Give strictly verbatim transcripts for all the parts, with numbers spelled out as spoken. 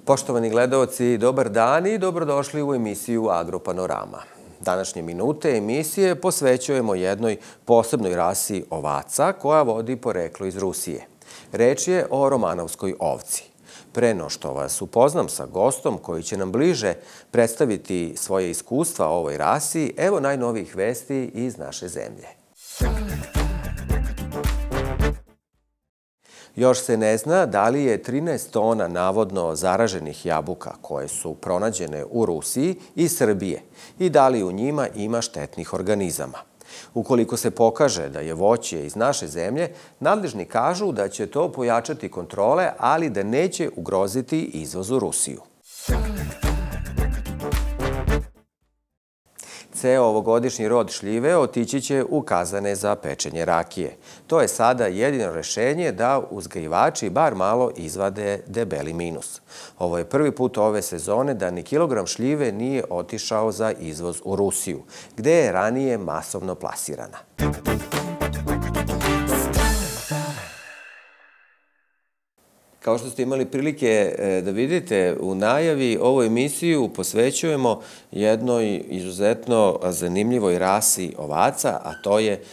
Poštovani gledaoci, dobar dan i dobrodošli u emisiju Agropanorama. Današnje minute emisije posvećujemo jednoj posebnoj rasi ovaca koja vodi poreklo iz Rusije. Reč je o romanovskoj ovci. Pre no što vas upoznam sa gostom koji će nam bliže predstaviti svoje iskustva o ovoj rasi, evo najnovijih vesti iz naše zemlje. Još se ne zna da li je trinaest tona navodno zaraženih jabuka koje su pronađene u Rusiji i Srbije i da li u njima ima štetnih organizama. Ukoliko se pokaže da je voće iz naše zemlje, nadležni kažu da će to pojačati kontrole, ali da neće ugroziti izvoz u Rusiju. Ceo ovogodišnji rod šljive otići će u kazane za pečenje rakije. To je sada jedino rešenje da uzgajivači bar malo izvade debeli minus. Ovo je prvi put ove sezone da ni kilogram šljive nije otišao za izvoz u Rusiju, gde je ranije masovno plasirana. Kao što ste imali prilike da vidite u najavi, ovu emisiju posvećujemo jednoj izuzetno zanimljivoj rasi ovaca, a to je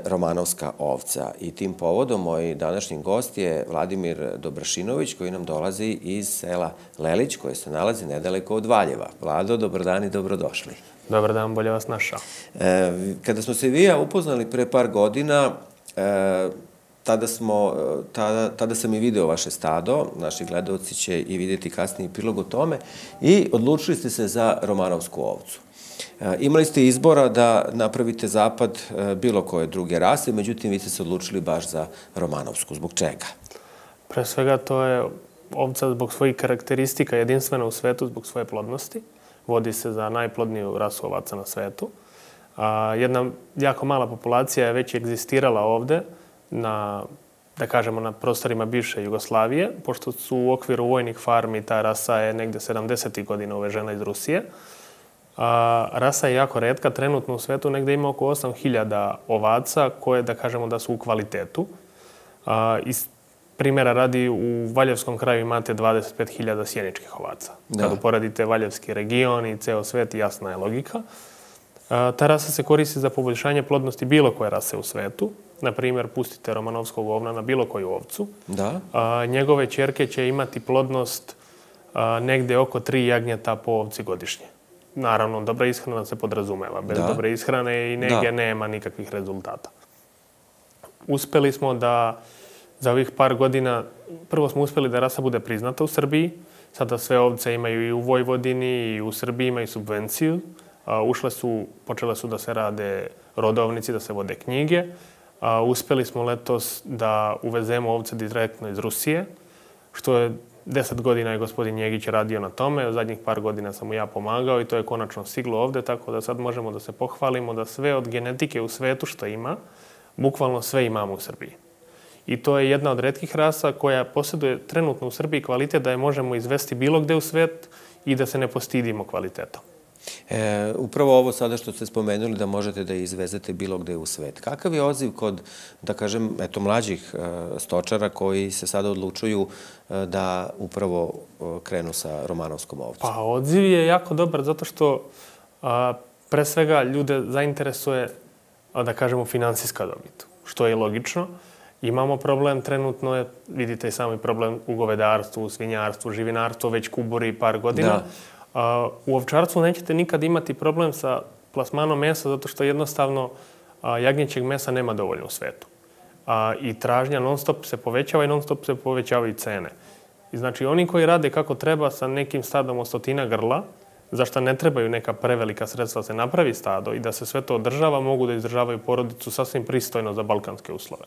romanovska ovca. I tim povodom moj današnji gost je Vladimir Dobrašinović, koji nam dolazi iz sela Lelić, koje se nalazi nedaleko od Valjeva. Vlado, dobar dan i dobrodošli. Dobar dan, bolje vas našao. Kada smo se vi ja upoznali pre par godina, Tada, smo, tada, tada sam i video vaše stado, naši gledalci će i vidjeti kasniji prilog o tome, i odlučili ste se za romanovsku ovcu. Imali ste izbora da napravite zapad bilo koje druge rase, međutim vi ste se odlučili baš za romanovsku. Zbog čega? Pre svega to je ovca zbog svojih karakteristika jedinstvena u svetu zbog svoje plodnosti. Vodi se za najplodniju rasu ovaca na svetu. Jedna jako mala populacija je već egzistirala ovde, na, da kažemo, na prostorima bivše Jugoslavije, pošto su u okviru vojnih farmi ta rasa je negde sedamdesetih godina uvežena iz Rusije. A, rasa je jako retka, trenutno u svetu negde ima oko osam hiljada ovaca koje, da kažemo, da su u kvalitetu. A, iz primjera radi, u Valjevskom kraju imate dvadeset pet hiljada sjeničkih ovaca. Da. Kad uporedite Valjevski region i ceo svet, jasna je logika. A, ta rasa se koristi za poboljšanje plodnosti bilo koje rase u svetu. Na primjer, pustite romanovskog ovna na bilo koju ovcu. Da. A, njegove ćerke će imati plodnost a, negde oko tri jagnjeta po ovci godišnje. Naravno, dobra ishrana se podrazumeva. Bez da. dobre ishrane i nege da. nema nikakvih rezultata. Uspeli smo da za ovih par godina, prvo smo uspeli da rasa bude priznata u Srbiji. Sada sve ovce imaju i u Vojvodini i u Srbiji imaju subvenciju. A, ušle su, počele su da se rade rodovnici, da se vode knjige. A, uspeli smo letos da uvezemo ovce direktno iz Rusije, što je deset godina je gospodin Njegić radio na tome. Zadnjih par godina sam mu ja pomagao i to je konačno stiglo ovde, tako da sad možemo da se pohvalimo da sve od genetike u svetu što ima, bukvalno sve imamo u Srbiji. I to je jedna od retkih rasa koja posjeduje trenutno u Srbiji kvalitet da je možemo izvesti bilo gde u svet i da se ne postidimo kvalitetom. E, upravo ovo sada što ste spomenuli da možete da izvezete bilo gde u svet. Kakav je odziv kod, da kažem, eto, mlađih e, stočara koji se sada odlučuju e, da upravo e, krenu sa romanovskom ovcom? Pa, odziv je jako dobar zato što a, pre svega ljude zainteresuje, a, da kažemo, finansijska dobit, što je logično. Imamo problem trenutno, je, vidite i sami problem u govedarstvu, u svinjarstvu, živinarstvu, već kuburi par godina. Da. U ovčarstvu nećete nikad imati problem sa plasmanom mesa zato što jednostavno jagnjećeg mesa nema dovoljno u svetu. I tražnja non stop se povećava i non stop se povećavaju cene. I znači oni koji rade kako treba sa nekim stadom od stotina grla, za što ne trebaju neka prevelika sredstva se napravi stado i da se sve to održava, mogu da izdržavaju porodicu sasvim pristojno za balkanske uslove.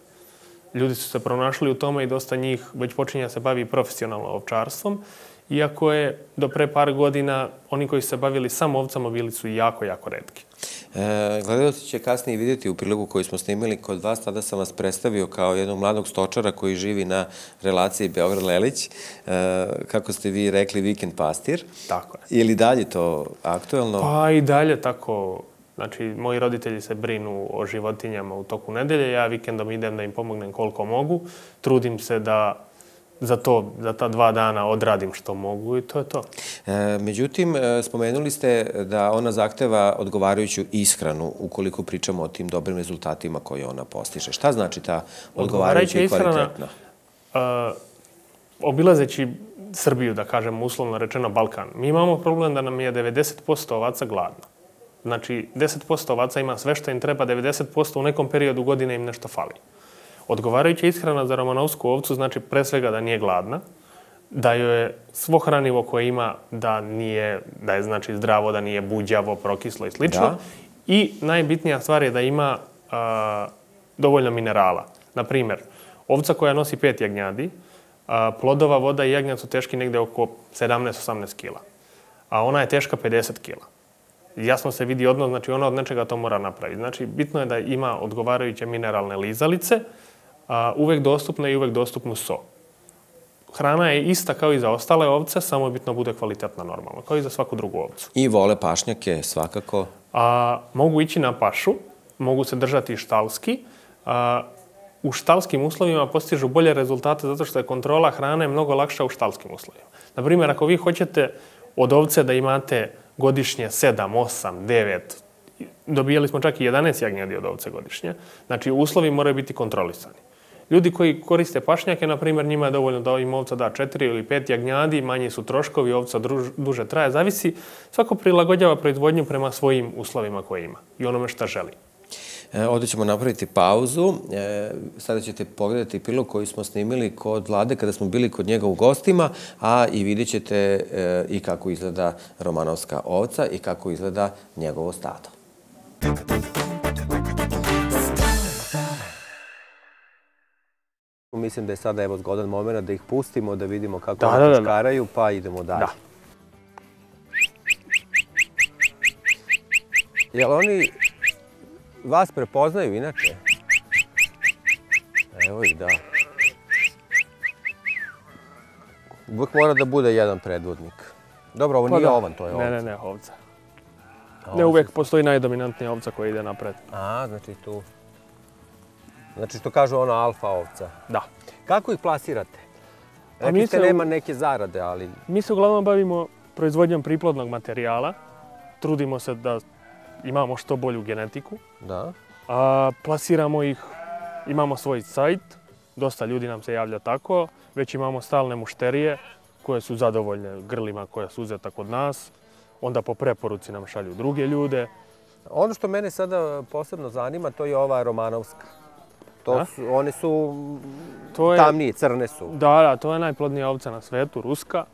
Ljudi su se pronašli u tome i dosta njih već počinje da se bavi profesionalno ovčarstvom. Iako je do pre par godina oni koji su se bavili samo ovcama bili su jako, jako retki. E, gledalci će kasnije vidjeti u prilogu koji smo snimili kod vas. Tada sam vas predstavio kao jednog mladog stočara koji živi na relaciji Beograd-Lelić. E, kako ste vi rekli, vikend pastir. Tako je. Je li dalje to aktuelno? Pa i dalje tako. Znači, moji roditelji se brinu o životinjama u toku nedelje. Ja vikendom idem da im pomognem koliko mogu. Trudim se da za to, za ta dva dana odradim što mogu i to je to. Međutim, spomenuli ste da ona zahteva odgovarajuću ishranu ukoliko pričamo o tim dobrim rezultatima koje ona postiže. Šta znači ta odgovarajuća i kvalitetna? Obilazeći Srbiju, da kažem uslovno rečeno Balkan, mi imamo problem da nam je devedeset posto ovaca gladno. Znači, deset posto ovaca ima sve što im treba, devedeset posto u nekom periodu godine im nešto fali. Odgovarajuća ishrana za romanovsku ovcu znači pre svega da nije gladna, da joj je svo hranivo koje ima da nije, da je znači zdravo, da nije buđavo, prokislo i slično. I najbitnija stvar je da ima dovoljno minerala. Naprimjer, ovca koja nosi pet jagnjadi, plodova, voda i jagnjad su teški negde oko sedamnaest do osamnaest kila. A ona je teška pedeset kila. Jasno se vidi odnos, znači ona od nečega to mora napraviti. Znači, bitno je da ima odgovarajuće mineralne lizalice, uvek dostupne i uvek dostupnu so. Hrana je ista kao i za ostale ovce, samo je bitno bude kvalitetna normalno, kao i za svaku drugu ovcu. I vole pašnjake svakako? Mogu ići na pašu, mogu se držati štalski. U štalskim uslovima postižu bolje rezultate zato što je kontrola hrane mnogo lakša u štalskim uslovima. Naprimjer, ako vi hoćete od ovce da imate godišnje sedam, osam, devet, dobijali smo čak i jedanaest jagnjadi od ovce godišnje, znači uslovi moraju biti kontrolisani. Ljudi koji koriste pašnjake, na primjer, njima je dovoljno da im ovca da četiri ili pet jagnjadi, manji su troškovi, ovca duže traje, zavisi. Svako prilagođava proizvodnju prema svojim uslovima koje ima i onome šta želi. Ovdje ćemo napraviti pauzu. Sada ćete pogledati prilog koji smo snimili kod Vlade kada smo bili kod njega u gostima, a i vidjet ćete i kako izgleda romanovska ovca i kako izgleda njegovo stado. Mislim da je sada evo zgodan moment da ih pustimo, da vidimo kako oni čučkaraju, pa idemo dalje. Jel oni vas prepoznaju inače? Evo ih, da. Uvijek mora da bude jedan predvodnik. Dobro, ovo nije ovan, to je ovca. Ne, ne, ne, ovca. Ne, uvijek postoji najdominantnija ovca koja ide napred. A, znači tu. Znači što kažu ono alfa ovca. Da. Kako ih plasirate? Rekli ste nema neke zarade, ali... Mi se uglavnom bavimo proizvodnjom priplodnog materijala. Trudimo se da imamo što bolju genetiku. Da. Plasiramo ih, imamo svoj sajt, dosta ljudi nam se javlja tako, već imamo stalne mušterije koje su zadovoljne grlima koja su uzeta kod nas, onda po preporuci nam šalju druge ljude. Ono što mene sada posebno zanima, to je ova romanovska. One su tamnije, crne su. Da, da, to je najplodnija ovca na svetu, ruska.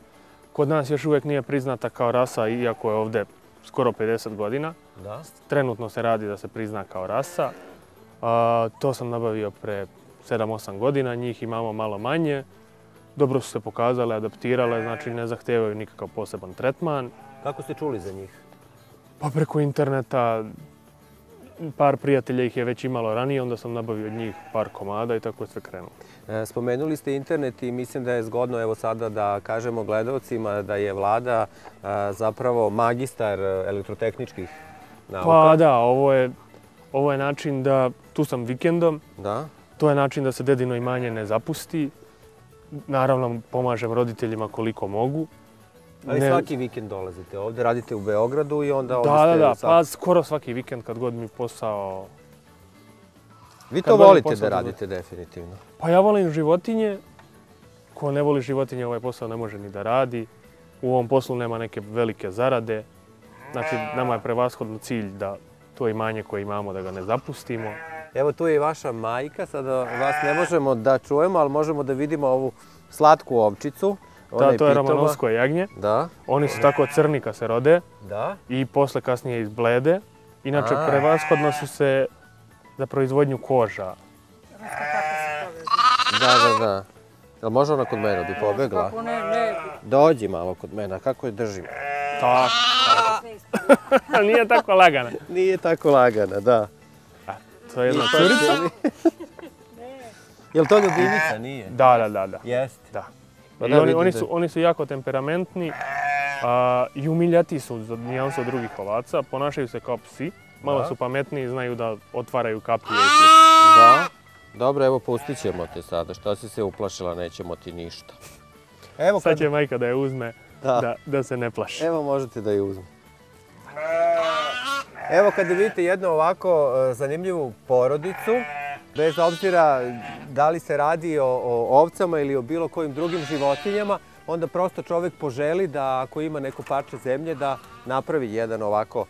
Kod nas još uvijek nije priznata kao rasa, iako je ovdje skoro pedeset godina. Trenutno se radi da se prizna kao rasa. To sam nabavio pre sedam osam godina, njih imamo malo manje. Dobro su se pokazale, adaptirale, znači ne zahtevaju nikakav poseban tretman. Kako ste čuli za njih? Pa preko interneta, par prijatelja ih je već imalo ranije, onda sam nabavio od njih par komada i tako je sve krenulo. Spomenuli ste internet i mislim da je zgodno evo sada da kažemo gledalcima da je Vlada zapravo magistar elektrotehničkih nauka. Pa da, ovo je način da, tu sam vikendom, to je način da se dedino imanje ne zapusti. Naravno, pomažem roditeljima koliko mogu. Ali svaki vikend dolazite ovdje, radite u Beogradu i onda ovdje ste... Da, da, da, pa skoro svaki vikend kad god mi posao... Vi to volite da radite definitivno? Pa ja volim životinje. Ko ne voli životinje, ovaj posao ne može ni da radi. U ovom poslu nema neke velike zarade. Znači, nama je prevashodno cilj da to imanje koje imamo, da ga ne zapustimo. Evo tu je i vaša majka, sada vas ne možemo da čujemo, ali možemo da vidimo ovu slatku ovčicu. Da, to je romanovsko jagnje. Da. Oni su tako crni kad se rode. Da. I posle kasnije izblede. Inače, prevashodno su se za proizvodnju koža. Da, da, da. Jel može ona kod mene, bi pobegla? Kako ne, ne. Dođi malo kod mene, kako je držim? Tako. Nije tako lagana. Nije tako lagana, da. To je jedna curica. Jel to ljubivica? Nije? Da, da, da, da. Jeste? Da. Oni su jako temperamentni i umiljati su za nijansu od drugih ovaca. Ponašaju se kao psi. Malo su pametniji, znaju da otvaraju kapije i slično. Da. Dobro, evo pustit ćemo te sada. Što si se uplašila, nećemo ti ništa. Sad će majka da je uzme, da se ne plaši. Evo možete da je uzme. Evo kada vidite jednu ovako zanimljivu porodicu, bez obzira da li se radi o ovcama ili o bilo kojim drugim životinjama, onda prosto čovjek poželi da ako ima neko parče zemlje da napravi jedan ovako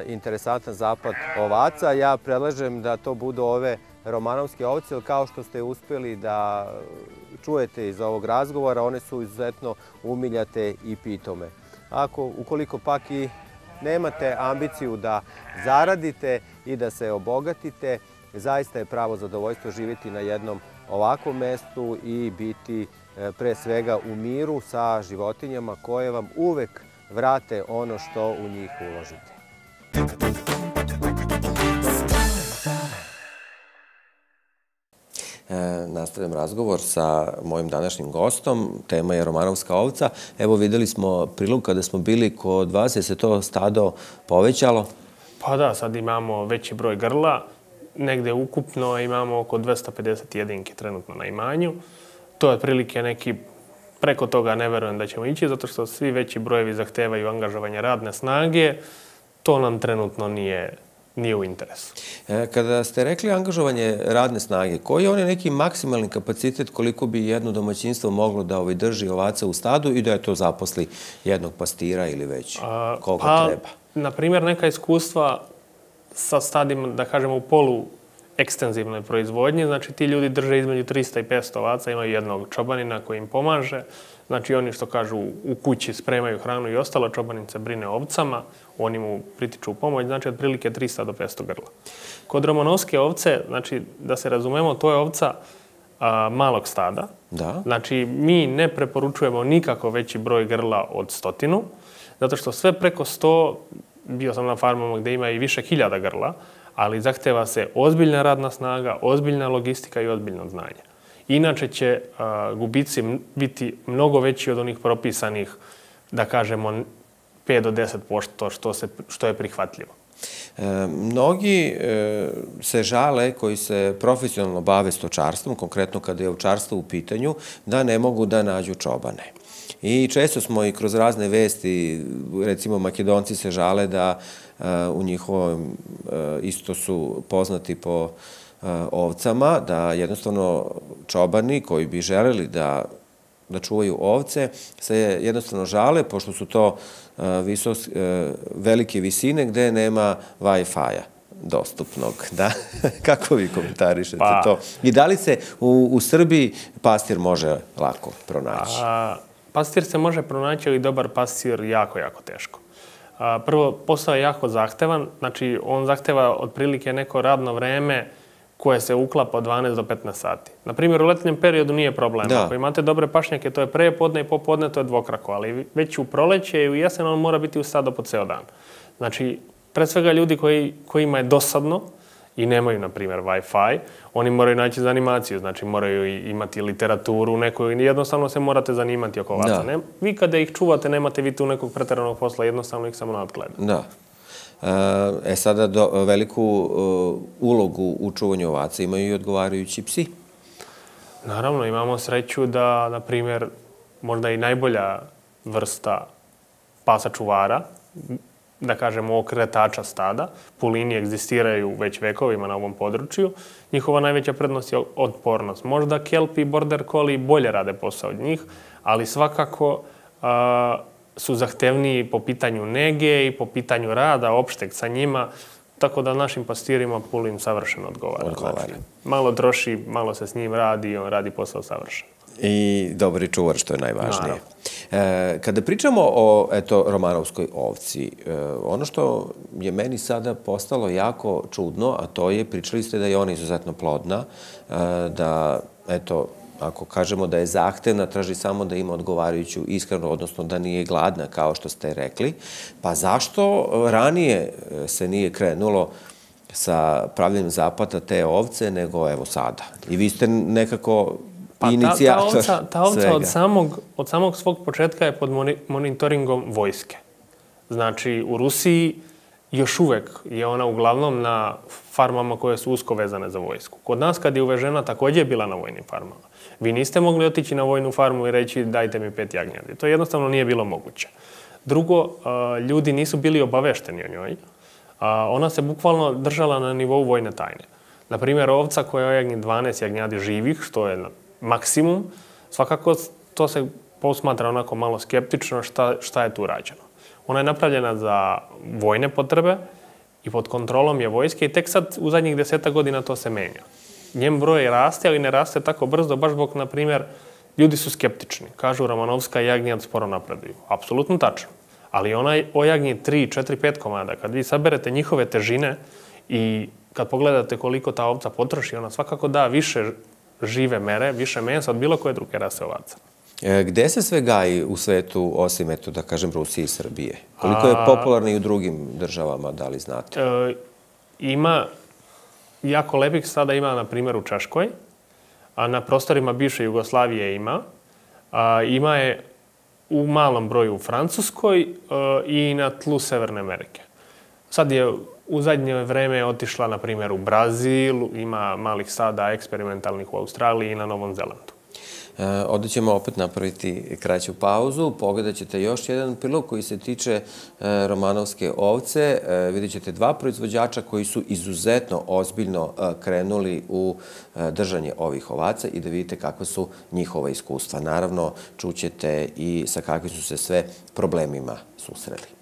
interesantan zapad ovaca. Ja predlažem da to budu ove romanovske ovce, jer kao što ste uspjeli da čujete iz ovog razgovora, one su izuzetno umiljate i pitome. Ako, ukoliko pak i nemate ambiciju da zaradite i da se obogatite, zaista je pravo zadovoljstvo živjeti na jednom ovakvom mestu i biti pre svega u miru sa životinjama koje vam uvek vrate ono što u njih uložite. Nastavljam razgovor sa mojim današnjim gostom. Tema je romanovska ovca. Evo videli smo prilog kada smo bili kod vas. Je se to stado povećalo? Pa da, sad imamo veći broj grla. Negde ukupno imamo oko dvesta pedeset jedinki trenutno na imanju. To je otprilike neki, preko toga ne verujem da ćemo ići, zato što svi veći brojevi zahtevaju angažovanje radne snage. To nam trenutno nije nije u interesu. Kada ste rekli angažovanje radne snage, koji je onaj neki maksimalni kapacitet koliko bi jedno domaćinstvo moglo da drži ovaca u stadu i da je to zaposli jednog pastira ili već koliko treba? Na primjer, neka iskustva sa stadima, da kažemo, u polu ekstenzivnoj proizvodnji, znači ti ljudi drže između trista i petsto ovaca, imaju jednog čobanina koji im pomaže. Znači oni što kažu u kući spremaju hranu i ostalo, čobanin se brine o ovcama, oni mu pritiču u pomoć, znači otprilike trista do petsto grla. Kod romanovske ovce, znači da se razumemo, to je ovca malog stada. Znači mi ne preporučujemo nikako veći broj grla od stotinu, zato što sve preko sto, bio sam na farmama gdje ima i više hiljada grla, ali zahteva se ozbiljna radna snaga, ozbiljna logistika i ozbiljno znanje. Inače će gubici biti mnogo veći od onih propisanih, da kažemo, pet do deset posto što je prihvatljivo. Mnogi se žale koji se profesionalno bave stočarstvom, konkretno kada je ovčarstvo u pitanju, da ne mogu da nađu čobane. I često smo i kroz razne vesti, recimo Makedonci se žale da u njihovom isto su poznati po ovcama, da jednostavno čobani koji bi želeli da da čuvaju ovce, se jednostavno žale, pošto su to velike visine gde nema Wi-Fi-a dostupnog. Kako vi komentarišete to? I da li se u Srbiji pastir može lako pronaći? Pastir se može pronaći, ali dobar pastir jako, jako teško. Prvo, posao je jako zahtevan, znači on zahteva otprilike neko radno vreme koje se uklapa od dvanaest do petnaest sati. Naprimjer, u letnjem periodu nije problem. Ako imate dobre pašnjake, to je prepodne i popodne, to je dvokrako, ali već u proleće i u jesen on mora biti u stadu po ceo dan. Znači, pre svega ljudi kojima je dosadno i nemaju, na primjer, Wi-Fi, oni moraju naći za animaciju, znači moraju imati literaturu neku i jednostavno se morate zanimati oko ovaca. Vi kada ih čuvate, nemate vi tu nekog preteranog posla, jednostavno ih samo nadgledate. Da. E sada veliku ulogu u čuvanju ovaca imaju i odgovarajući psi. Naravno, imamo sreću da, na primjer, možda i najbolja vrsta pasa čuvara, da kažemo okretača stada, pulini egzistiraju već vekovima na ovom području. Njihova najveća prednost je otpornost. Možda kelpi i border collie bolje rade posao od njih, ali svakako su zahtevniji po pitanju nege i po pitanju rada opšteg sa njima, tako da našim pastirima pulin savršeno odgovara. Malo troši, malo se s njim radi i on radi posao savršeno. I dobri čuvar, što je najvažnije. Kada pričamo o romanovskoj ovci, ono što je meni sada postalo jako čudno, a to je, pričali ste da je ona izuzetno plodna, da, eto, ako kažemo da je zahtevna, traži samo da ima odgovarajuću ishranu, odnosno da nije gladna, kao što ste rekli. Pa zašto ranije se nije krenulo sa pravljenjem zapada te ovce, nego evo sada? I vi ste nekako inicijator svega. Ta ovca od samog svog početka je pod monitoringom vojske. Znači, u Rusiji još uvek je ona uglavnom na farmama koje su usko vezane za vojsku. Kod nas kad je uvežena također je bila na vojnim farmama. Vi niste mogli otići na vojnu farmu i reći dajte mi pet jagnjadi. To jednostavno nije bilo moguće. Drugo, ljudi nisu bili obavešteni o njoj. Ona se bukvalno držala na nivou vojne tajne. Naprimjer, ovca koja ojagnji dvanaest jagnjadi živih, što je maksimum, svakako to se posmatra onako malo skeptično šta, šta je tu rađeno. Ona je napravljena za vojne potrebe i pod kontrolom je vojske i tek sad u zadnjih deseta godina to se menja. Njen broj raste, ali ne raste tako brzo, baš zbog, na primjer, ljudi su skeptični. Kažu Romanovska jagnjad sporo napreduju. Apsolutno tačno. Ali ona ojagnji tri, četiri, pet komada. Kad vi saberete njihove težine i kad pogledate koliko ta ovca potroši, ona svakako da više žive mere, više mesa od bilo koje druge rase ovaca. Gde se sve gaji u svetu, osim, eto, da kažem, Rusije i Srbije? Koliko je popularno i u drugim državama, da li znate? E, ima, jako lepih sada ima, na primjer, u Češkoj, a na prostorima bivše Jugoslavije ima. A, ima je u malom broju u Francuskoj e, i na tlu Severne Amerike. Sad je u zadnje vreme otišla, na primjer, u Brazil, ima malih sada eksperimentalnih u Australiji i na Novom Zelandu. Ovdje ćemo opet napraviti kraću pauzu. Pogledat ćete još jedan prilog koji se tiče romanovske ovce. Vidjet ćete dva proizvođača koji su izuzetno ozbiljno krenuli u držanje ovih ovaca i da vidite kakva su njihova iskustva. Naravno, čućete i sa kakvim su se sve problemima susreli.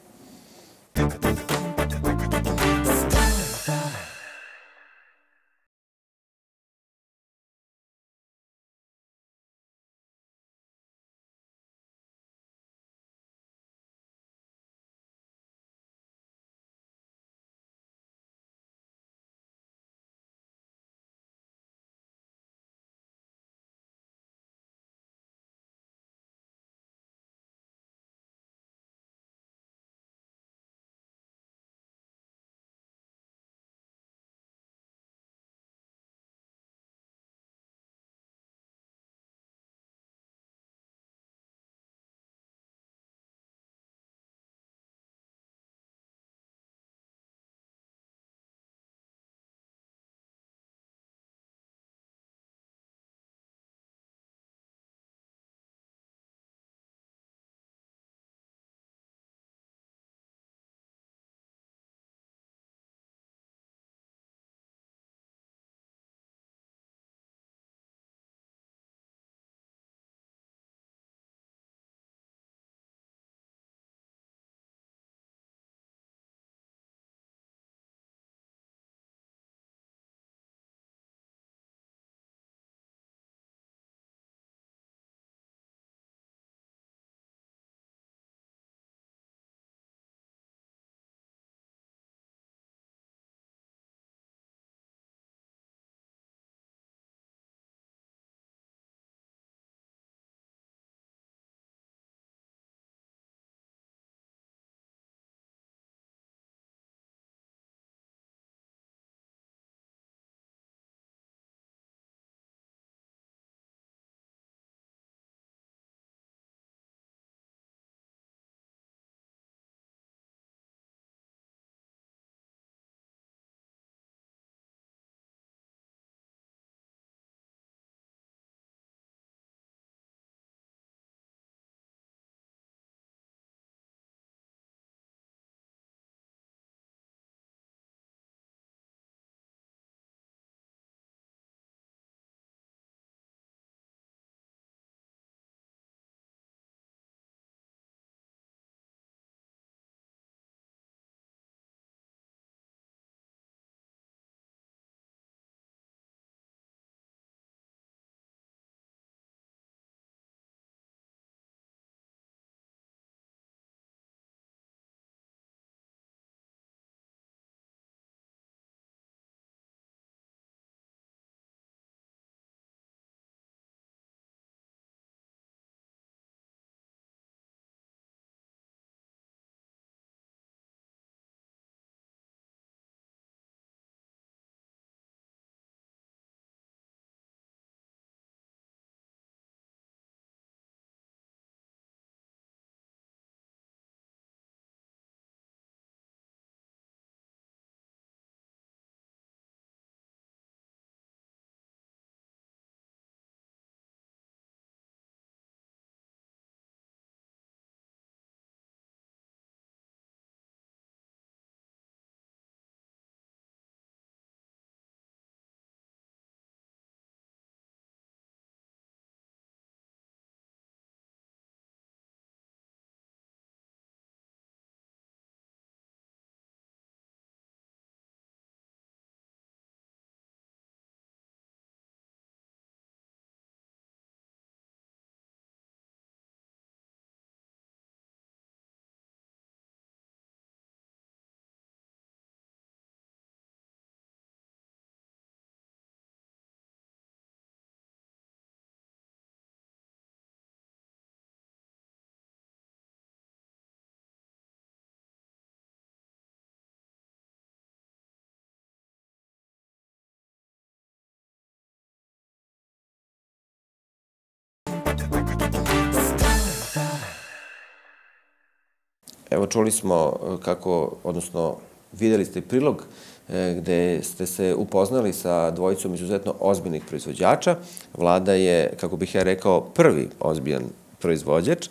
Evo čuli smo kako, odnosno vidjeli ste prilog gde ste se upoznali sa dvojicom izuzetno ozbiljnih proizvođača. Vlada je, kako bih ja rekao, prvi ozbiljan proizvođač.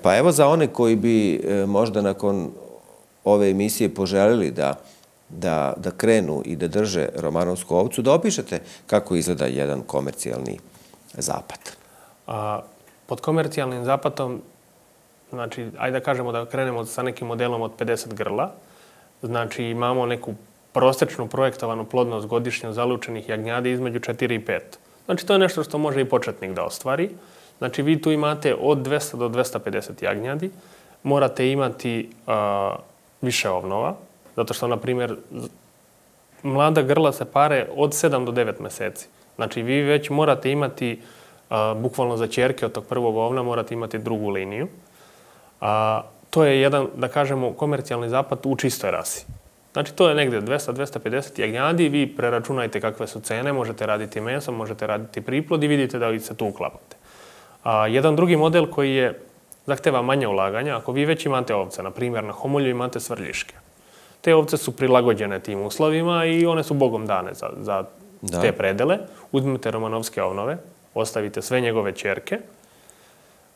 Pa evo za one koji bi možda nakon ove emisije poželili da Da, da krenu i da drže romanovsku ovcu, da opišete kako izgleda jedan komercijalni zapat. A, pod komercijalnim zapatom, znači, ajde da kažemo da krenemo sa nekim modelom od pedeset grla. Znači, imamo neku prosječnu projektovanu plodnost godišnje zalučenih jagnjadi između četiri i pet. Znači, to je nešto što može i početnik da ostvari. Znači, vi tu imate od dvesta do dvesta pedeset jagnjadi. Morate imati a, više ovnova. Zato što, na primjer, mlada grla se pare od sedam do devet meseci. Znači, vi već morate imati, a, bukvalno za ćerke od tog prvog ovna, morate imati drugu liniju. A, to je jedan, da kažemo, komercijalni zapat u čistoj rasi. Znači, to je negdje dvesta do dvesta pedeset jagnjadi, vi preračunajte kakve su cene, možete raditi meso, možete raditi priplod i vidite da se tu uklapate. A, jedan drugi model koji je zahteva manje ulaganja, ako vi već imate ovce, na primjer, na homolju imate svrljiške. Te ovce su prilagođene tim uslovima i one su bogom dane za, za te predele. Uzmite romanovske ovnove, ostavite sve njegove ćerke,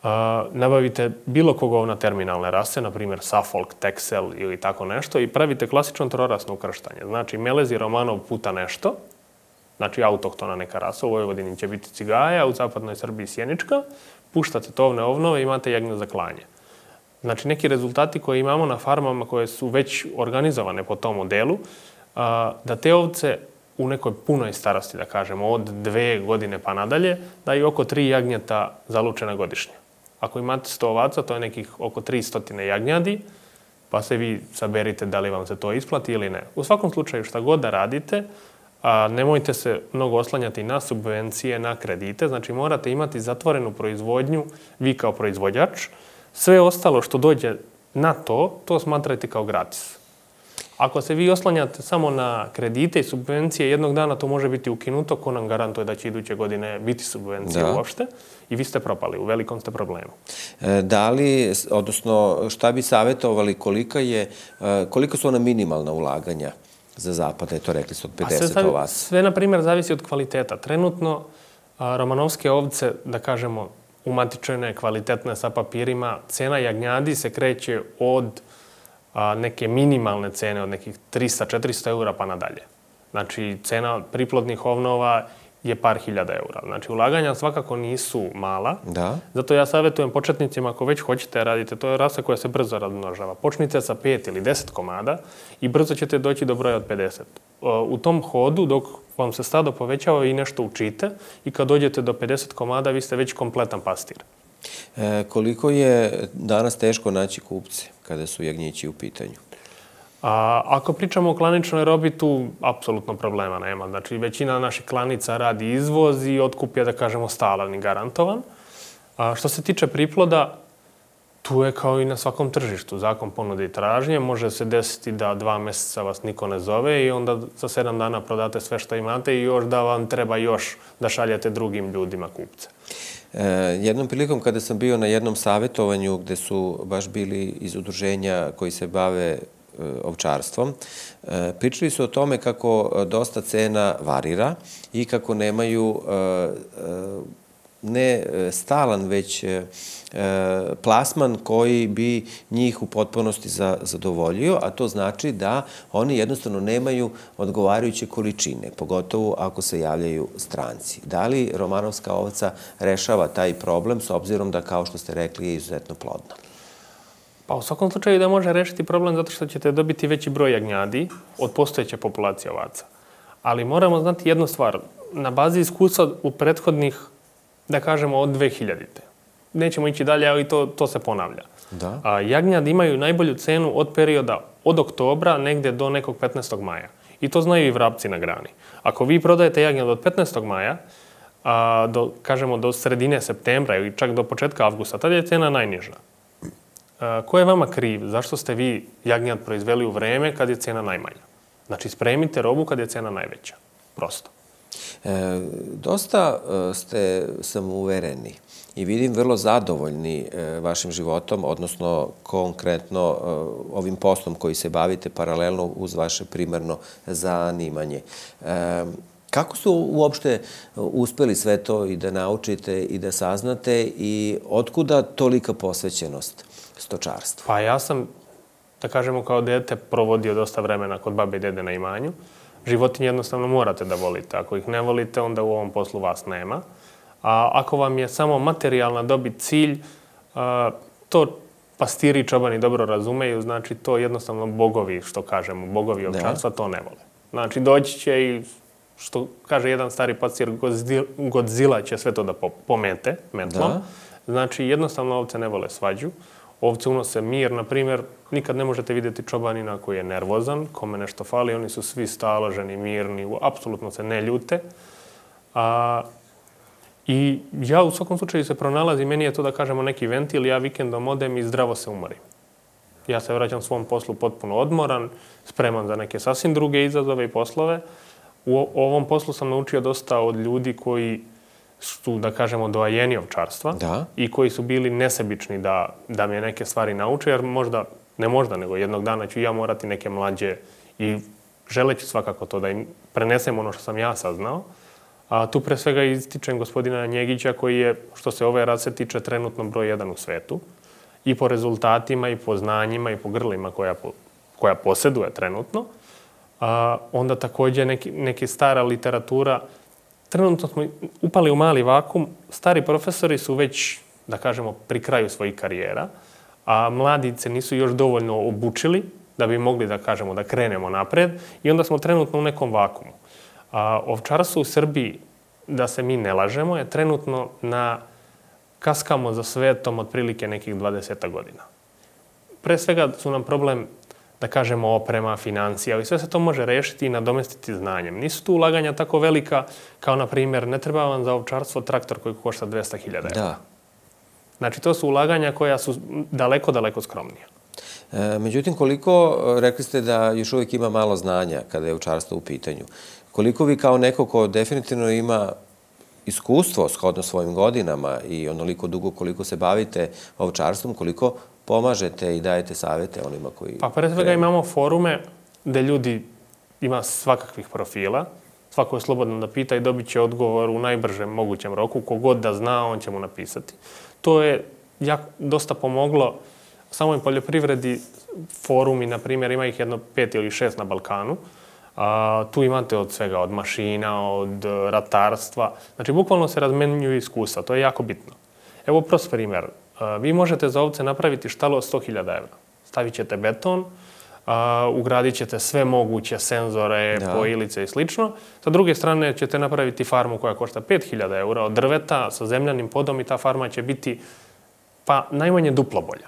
a, nabavite bilo kog ovna terminalne rase, na primjer Suffolk, Texel ili tako nešto i pravite klasično trorasno ukrštanje. Znači, melezi romanov puta nešto, znači autohtona neka rasa, u Vojvodini će biti cigaja, u zapadnoj Srbiji sjenička, puštate tovne ovnove i imate jagnje za klanje. Znači, neki rezultati koje imamo na farmama koje su već organizovane po tom modelu, da te ovce u nekoj punoj starosti, da kažemo, od dve godine pa nadalje, daju oko tri jagnjeta zalučena godišnje. Ako imate sto ovaca, to je nekih oko tristo jagnjadi, pa se vi saberite da li vam se to isplati ili ne. U svakom slučaju, šta god da radite, nemojte se mnogo oslanjati na subvencije, na kredite. Znači, morate imati zatvorenu proizvodnju, vi kao proizvođač. Sve ostalo što dođe na to, to smatrajte kao gratis. Ako se vi oslanjate samo na kredite i subvencije, jednog dana to može biti ukinuto, ko nam garantuje da će iduće godine biti subvencije uopšte i vi ste propali, u velikom ste problemu. Da li, odnosno, šta bi savjetovali, kolika je, koliko su ona minimalna ulaganja za zapad, je to rekli su od pedeset ovaca? Sve, na primjer, zavisi od kvaliteta. Trenutno, romanovske ovce, da kažemo, umatičene, kvalitetne sa papirima, cena jagnjadi se kreće od a, neke minimalne cene, od nekih trista do četiristo eura pa nadalje. Znači, cena priplodnih ovnova je par hiljada eura. Znači, ulaganja svakako nisu mala. Da. Zato ja savjetujem početnicima, ako već hoćete radite, to je rasa koja se brzo razmnožava. Počnite sa pet ili deset komada i brzo ćete doći do broja od pedeset. U tom hodu, dok vam se stado povećava i nešto učite i kad dođete do pedeset komada, vi ste već kompletan pastir. E, koliko je danas teško naći kupce kada su jagnjići u pitanju? A, ako pričamo o klaničnoj robi, tu apsolutno problema nema. Znači, većina naših klanica radi izvoz i otkup je, da kažemo, stalan i garantovan. A, što se tiče priploda, tu je kao i na svakom tržištu. Zakon ponude i tražnje. Može se desiti da dva mjeseca vas niko ne zove i onda za sedam dana prodate sve što imate i još da vam treba još da šaljete drugim ljudima kupce. E, jednom prilikom kada sam bio na jednom savjetovanju gde su baš bili iz udruženja koji se bave ovčarstvom, pričali su o tome kako dosta cena varira i kako nemaju ne stalan, već plasman koji bi njih u potpunosti zadovoljio, a to znači da oni jednostavno nemaju odgovarajuće količine, pogotovo ako se javljaju stranci. Da li romanovska ovca rešava taj problem s obzirom da, kao što ste rekli, je izuzetno plodna? Pa u svakom slučaju da može rešiti problem zato što ćete dobiti veći broj jagnjadi od postojeće populacije ovaca. Ali moramo znati jednu stvar. Na bazi iskustva u prethodnih, da kažemo, od dve hiljadite. Nećemo ići dalje, ali to, to se ponavlja. Da. A, jagnjadi imaju najbolju cenu od perioda od oktobra negdje do nekog petnaestog maja. I to znaju i vrapci na grani. Ako vi prodajete jagnjad od petnaestog maja, a, do, kažemo do sredine septembra ili čak do početka avgusta, tada je cena najniža. Ko je vama kriv? Zašto ste vi jagnjad proizveli u vreme kad je cena najmanja? Znači, spremite robu kad je cena najveća. Prosto. Dosta ste samouvereni i vidim vrlo zadovoljni vašim životom, odnosno konkretno ovim poslom koji se bavite paralelno uz vaše primarno zanimanje. Kako su uopšte uspeli sve to i da naučite i da saznate i otkuda tolika posvećenost stočarstvu? Pa ja sam, da kažemo, kao dete provodio dosta vremena kod babe i dede na imanju. Životinje jednostavno morate da volite. Ako ih ne volite, onda u ovom poslu vas nema. A ako vam je samo materijalna dobit cilj, to pastiri i čobani dobro razumeju, znači to jednostavno bogovi, što kažemo, bogovi ovčarstva, to ne vole. Znači doći će i, što kaže jedan stari pastir, Godzilla će sve to da pomete metlom. Znači jednostavno ovce ne vole svađu. Ovce unose mir, na primjer, nikad ne možete vidjeti čobanina koji je nervozan, kome nešto fali, oni su svi staloženi, mirni, apsolutno se ne ljute. I ja u svakom slučaju se pronalazim, meni je to da kažemo neki ventil, ja vikendom odem i zdravo se umorim. Ja se vraćam svom poslu potpuno odmoran, spreman za neke sasvim druge izazove i poslove. U ovom poslu sam naučio dosta od ljudi koji su, da kažemo, doajeni ovčarstva i koji su bili nesebični da, da me neke stvari nauče, jer možda, ne možda, nego jednog dana ću ja morati neke mlađe i želeći svakako to da im prenesem ono što sam ja saznao. A tu pre svega ističem gospodina Njegića koji je, što se ove rase tiče, trenutno broj jedan u svetu. I po rezultatima, i po znanjima, i po grlima koja, koja posjeduje trenutno. A onda također neki, neki stara literatura. Trenutno smo upali u mali vakum. Stari profesori su već, da kažemo, pri kraju svojih karijera, a mladice nisu još dovoljno obučili da bi mogli, da kažemo, da krenemo napred i onda smo trenutno u nekom vakumu. A ovčarstvo u Srbiji, da se mi ne lažemo, je trenutno na kaskamo za svetom otprilike nekih dvadeset godina. Pre svega su nam problem, da kažemo, oprema, financija, i sve se to može rešiti i nadomestiti znanjem. Nisu tu ulaganja tako velika kao, na primjer, ne treba vam za ovčarstvo traktor koji košta dvesta hiljada eura. Znači, to su ulaganja koja su daleko, daleko skromnija. Međutim, koliko, rekli ste da još uvijek ima malo znanja kada je ovčarstvo u pitanju, koliko vi kao neko ko definitivno ima iskustvo shodno svojim godinama i onoliko dugo koliko se bavite ovčarstvom, koliko pomažete i dajete savjete onima koji... Pa pre svega imamo forume gde ljudi ima svakakvih profila. Svako je slobodno da pita i dobit će odgovor u najbržem mogućem roku. Kogod da zna, on će mu napisati. To je dosta pomoglo samoj poljoprivredi. Forumi, na primjer, ima ih jedno pet ili šest na Balkanu. Tu imate od svega, od mašina, od ratarstva. Znači, bukvalno se razmenjuju iskustva. To je jako bitno. Evo prost primjer. Vi možete za ovce napraviti štalu od sto hiljada evra. Stavit ćete beton, ugradit ćete sve moguće senzore, pojilice i slično. Sa druge strane ćete napraviti farmu koja košta pet hiljada eura od drveta sa zemljanim podom i ta farma će biti pa najmanje duplo bolja.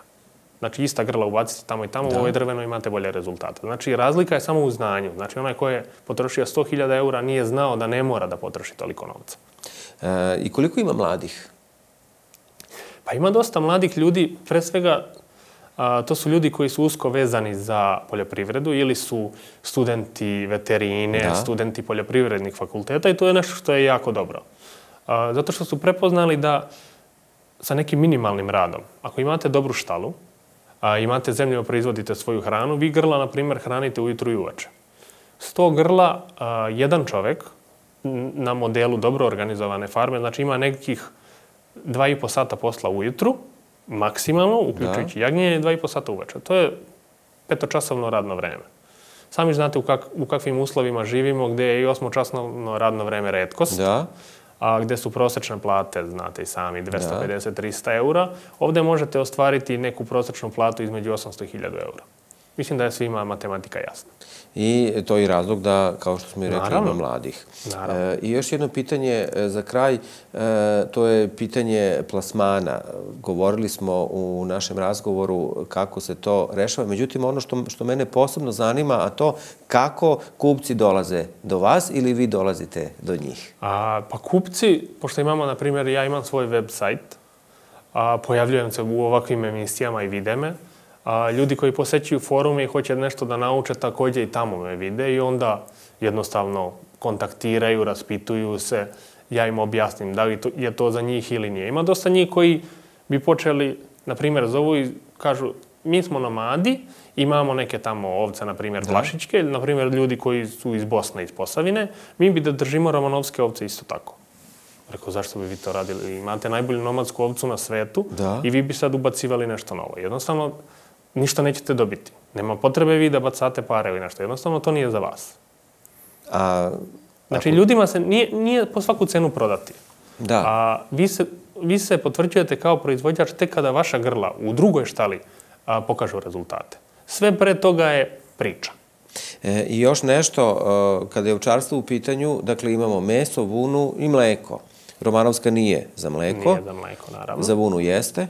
Znači, ista grla ubacite tamo i tamo, u ovoj drvenoj imate bolje rezultate. Znači, razlika je samo u znanju. Znači, onaj ko je potrošio sto hiljada eura nije znao da ne mora da potroši toliko novca. I koliko ima mladih? Pa ima dosta mladih ljudi, pre svega to su ljudi koji su usko vezani za poljoprivredu ili su studenti veterine, studenti poljoprivrednih fakulteta i to je nešto što je jako dobro. Zato što su prepoznali da sa nekim minimalnim radom, ako imate dobru štalu, imate zemlju, proizvodite svoju hranu, vi grla, na primjer, hranite ujutru i uveče. Sto grla, jedan čovek na modelu dobro organizovane farme, znači ima nekih dva i po sata posla ujutru, maksimalno, uključujući jagnjenje, i dva i po sata uveče. To je petočasovno radno vreme. Sami znate u kakvim uslovima živimo, gde je i osmočasovno radno vreme retkost, a gde su prosečne plate, znate i sami, dvesta pedeset do trista eura. Ovde možete ostvariti neku prosečnu platu između osamsto i hiljadu eura. Mislim da je svima matematika jasna. I to je razlog da, kao što smo i rekli, ima mladih. I još jedno pitanje za kraj, to je pitanje plasmana. Govorili smo u našem razgovoru kako se to rešava. Međutim, ono što mene posebno zanima, a to kako kupci dolaze do vas ili vi dolazite do njih? Pa kupci, pošto imamo, na primjer, ja imam svoj web sajt, pojavljujem se u ovakvim emisijama i vide me. Ljudi koji posećuju forume i hoće nešto da nauče, također i tamo me vide i onda jednostavno kontaktiraju, raspituju se, ja im objasnim da li je to za njih ili nije. Ima dosta njih koji bi počeli, na primjer, zovu i kažu mi smo nomadi, imamo neke tamo ovce, na primjer, vlašičke, ili, na primjer, ljudi koji su iz Bosne, iz Posavine, mi bi da držimo romanovske ovce isto tako. Rekao, zašto bi vi to radili? Imate najbolju nomadsku ovcu na svetu i vi bi sad ubacivali nešto novo. Jednostavno, ništa nećete dobiti. Nema potrebe vi da bacate pare ili nešto. Jednostavno, to nije za vas. A, znači, ako... ljudima se nije, nije po svaku cenu prodati. Da. A vi se, vi se potvrđujete kao proizvođač tek kada vaša grla u drugoj štali a, pokažu rezultate. Sve pre toga je priča. E, I još nešto, uh, kada je ovčarstvo u pitanju, dakle imamo meso, vunu i mleko. Romanovska nije za mleko. Nije za mleko, naravno. Za vunu jeste.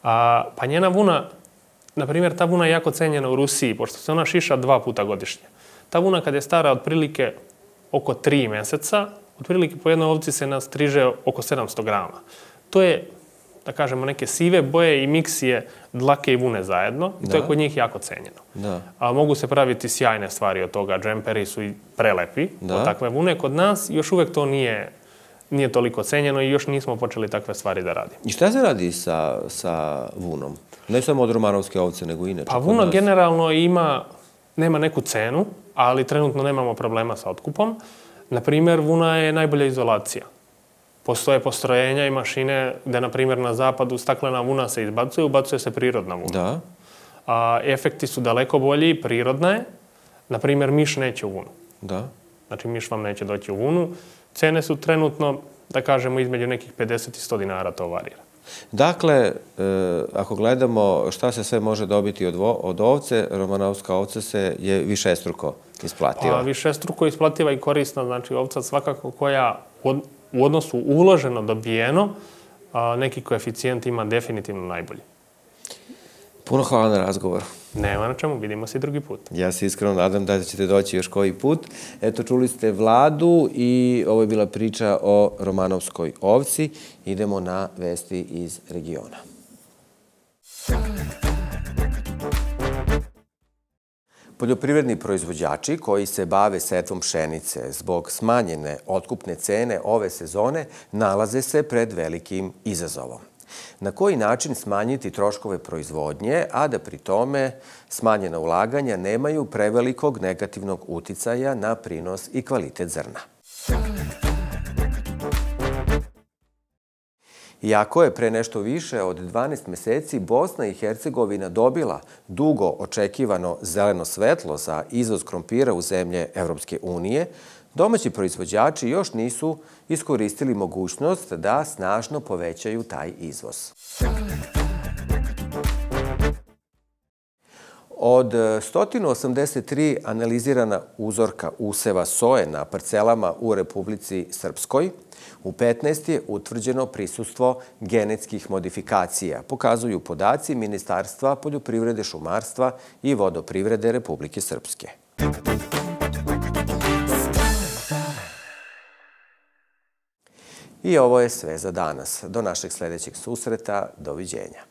A, pa njena vuna, na primjer, ta vuna je jako cenjena u Rusiji, pošto se ona šiša dva puta godišnje. Ta vuna kad je stara otprilike oko tri mjeseca, otprilike po jednoj ovci se nastriže oko sedamsto grama. To je, da kažemo, neke sive boje i miksije dlake i vune zajedno. I to je kod njih jako cenjeno. Da. A mogu se praviti sjajne stvari od toga. Džemperi su i prelepi od takve vune. Kod nas još uvek to nije, nije toliko cenjeno i još nismo počeli takve stvari da radimo. I šta se radi sa, sa vunom? Ne samo od romanovske ovce, nego i inače. Pa vuna generalno ima, nema neku cenu, ali trenutno nemamo problema sa otkupom. Na primjer, vuna je najbolja izolacija. Postoje postrojenja i mašine gde, na primjer, na zapadu staklena vuna se izbacuje, ubacuje se prirodna vuna. Da. A efekti su daleko bolji, prirodna je. Na primjer, miš neće u vunu. Da. Znači, miš vam neće doći u vunu. Cene su trenutno, da kažemo, između nekih pedeset i sto dinara, to varira. Dakle, e, ako gledamo šta se sve može dobiti od, vo, od ovce, romanovska ovca se je višestruko isplativa. Pa, višestruko isplativa i korisna, znači ovca svakako koja od, u odnosu uloženo dobijeno, a, neki koeficijent ima definitivno najbolji. Puno hvala na razgovor. Nema na čemu, vidimo se i drugi put. Ja se iskreno nadam da ćete doći još koji put. Eto, čuli ste Vladu i ovo je bila priča o romanovskoj ovci. Idemo na vesti iz regiona. Poljoprivredni proizvođači koji se bave setvom pšenice zbog smanjene otkupne cene ove sezone nalaze se pred velikim izazovom. Na koji način smanjiti troškove proizvodnje, a da pri tome smanjena ulaganja nemaju prevelikog negativnog uticaja na prinos i kvalitet zrna. Iako je pre nešto više od dvanaest meseci Bosna i Hercegovina dobila dugo očekivano zeleno svetlo za izvoz krompira u zemlje Evropske unije, domaći proizvođači još nisu iskoristili mogućnost da snažno povećaju taj izvoz. Od sto osamdeset tri analizirana uzorka useva soje na parcelama u Republici Srpskoj, u petnaest je utvrđeno prisustvo genetskih modifikacija, pokazuju podaci Ministarstva poljoprivrede, šumarstva i vodoprivrede Republike Srpske. I ovo je sve za danas. Do našeg sljedećeg susreta. Doviđenja.